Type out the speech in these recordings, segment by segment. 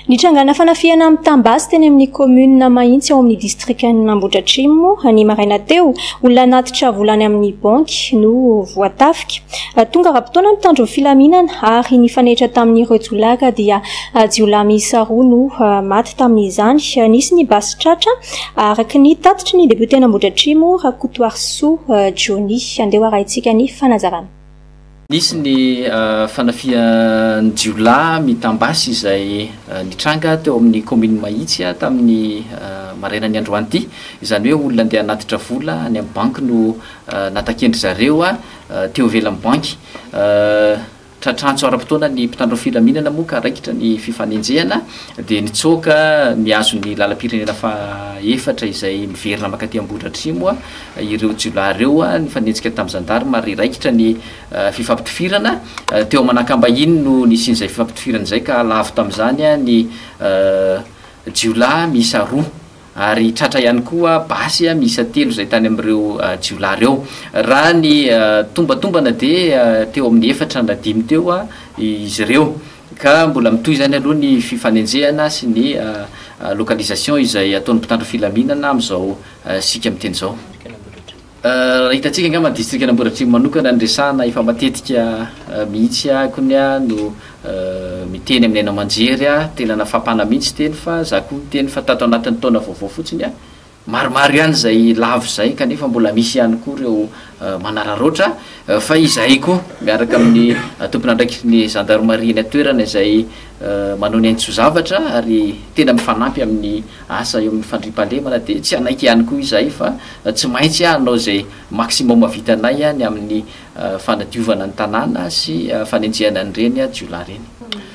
Nitrangana fanafihana mitam-basy teny amin'ny kaominina Mahitsy ao amin'ny distrikan'Ambohidratrimo ny maraina teo. Olona hanatitra vola any amin'ny banky no voatafika. Tonga ara-potoana ny mpitandro ny filaminana ary nifanehitra tamin'ireo jiolahy ka dia jiolahy miisa roa no maty tamin'izany. Nisy ny basy tratra araka ny tatitry ny depioten'Ambohidratrimo Rakotoarisoa Johnny. Andeha ho arahintsika ny fanazavana. Nisy ny fanafihan'ny jiolahy mitam-basy izay nitranga teo amin'ny kaominina Mahitsy tamin'ny marainan'ny androany ity. Izany hoe olona andeha hanatitra vola any amin'ny banky no nataken-dry zareo teo ivelan'ny banky. Tratrantso ara-potoana ny mpitandro ny filaminana moa ka raikitra ny fifanenjehana dia nitsoaka nihazo ny lalam-pirenena faha-efatra izay miverina mankaty Ambohidratrimo ireo jiolahy ireo nifanenjika tamin'ny zandarima ary raikitra ny fifampitifirana. Teo Manakambahiny no nisian'izay fifampitifirana izay ka lavo tamin'izany ny jiolahy miisa roa. Ary tratra ihany koa basy miisa telo izay tany amin'ireo jiolahy ireo. Raha ny tombatombana dia teo amin'ny efatra na dimy teo izy ireo. Ka mbola mitohy izany aloha ny fifanenjehana sy ny localisation izay ataon'ny mpitandro filaminana amin'izao isika miteny izao. Raha hitantsika angamba ny distrikan'Ambohidratrimo manokana no resahana efa matetika mihitsy akony no miteny amin'ny haino aman-jery aho, tena nafampana mihitsy teny fa za koa miteny fa tato anatin'ny taona vaovao fotsiny maromaro ihany izay lavo izay kanefa mbola misy ihany koa ireo manararaotra fa izahay koa miaraka amin'ny tompon'andraikitry ny zandarimaria eny an-toerana izay manao ny ain-tso-zavatra ary tena mifanampy amin'ny asa eo amin'ny fandriampahalemana dia tsy hanaiky ihany koa izahay fa tsy maintsy hanao izay maximum vitanay ny amin'ny fanadiovana ny tanàna sy fanenjehana an'ireny jiolahy ireny.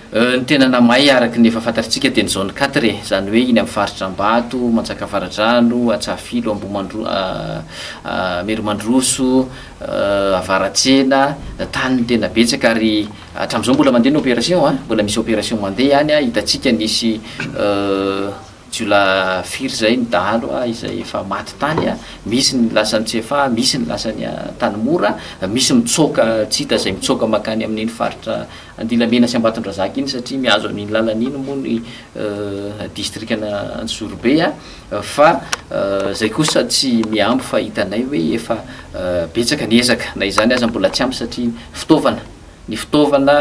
Ny tena namay araka ny efa fantatritsika dia ny zone quatre e, izany hoe iny amin'ny faritra Ambato, Manjakavaradrano, Antsahafilo, Ambohimandro, Merimandroso, Avaratsena, tany no tena betsaka ary Hatramin'izao mbola mandeha ny opération a, mbola misy opération mandeha any a, hitantsika nisy jiolahy firy zay ny dahalo a, izay efa maty tany a, misy ny lasa any Tsiafahy, misy ny lasa any Antanimora, misy mitsoaka tsy hita izay mitsoaka mankany amin'iny faritra Andilamena sy Ambatondrazaka iny satria mihazo an'iny lalana iny moa ny distrikan'Anjozorobe a, fa zay kosa tsy mihambo fa hitanay hoe efa betsaka ny ezaka, na izany aza mbola tsy ampy satria fitaovana. Ny fitaovana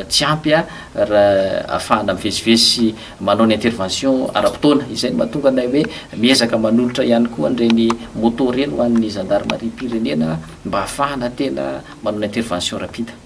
tsy ampy raha ahafahana mivezivezy sy manao ny intervention ara-potoana. Izay no mahatonga anay hoe miezaka manolotra ihany koa an'ireny moto ireny ho an'ny zandarimariam-pirenena mba ahafahana tena manao ny intervention rapide.